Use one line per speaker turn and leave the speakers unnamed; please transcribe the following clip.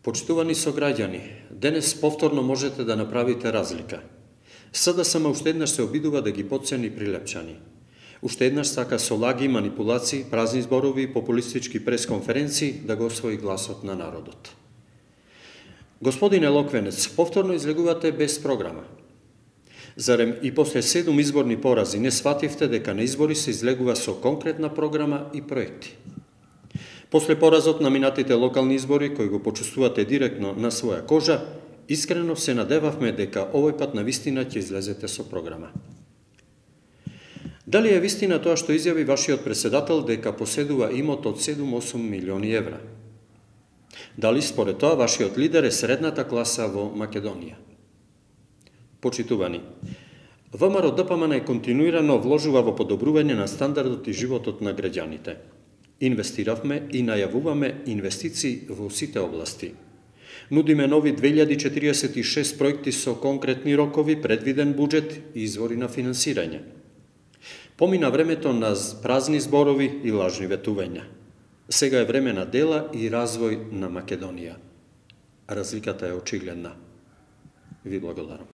Почитувани сограѓани, денес повторно можете да направите разлика. СДСМ уште еднаш се обидува да ги потцени прилепчани. Уште еднаш сака со лаги, манипулации, празни зборови и популистички пресконференции да го освои гласот на народот. Господин Елоквенец, повторно излегувате без програма. Зарем и после 7 изборни порази не свативте дека на избори се излегува со конкретна програма и проекти? После поразот на минатите локални избори, кои го почувствувате директно на своја кожа, искрено се надевавме дека овој пат на вистина ќе излезете со програма. Дали е вистина тоа што изјави вашиот председател дека поседува имот од 7-8 милиони евра? Дали според тоа вашиот лидер е средната класа во Македонија? Почитувани, ВМРО ДПМН континуирано вложува во подобрување на стандардот и животот на граѓаните. Инвестиравме и најавуваме инвестиции во сите области. Нудиме нови 2046 проекти со конкретни рокови, предвиден буџет и извори на финансирање. Помина времето на празни зборови и лажни ветувања. Сега е време на дела и развој на Македонија. Разликата е очигледна. Ви благодарам.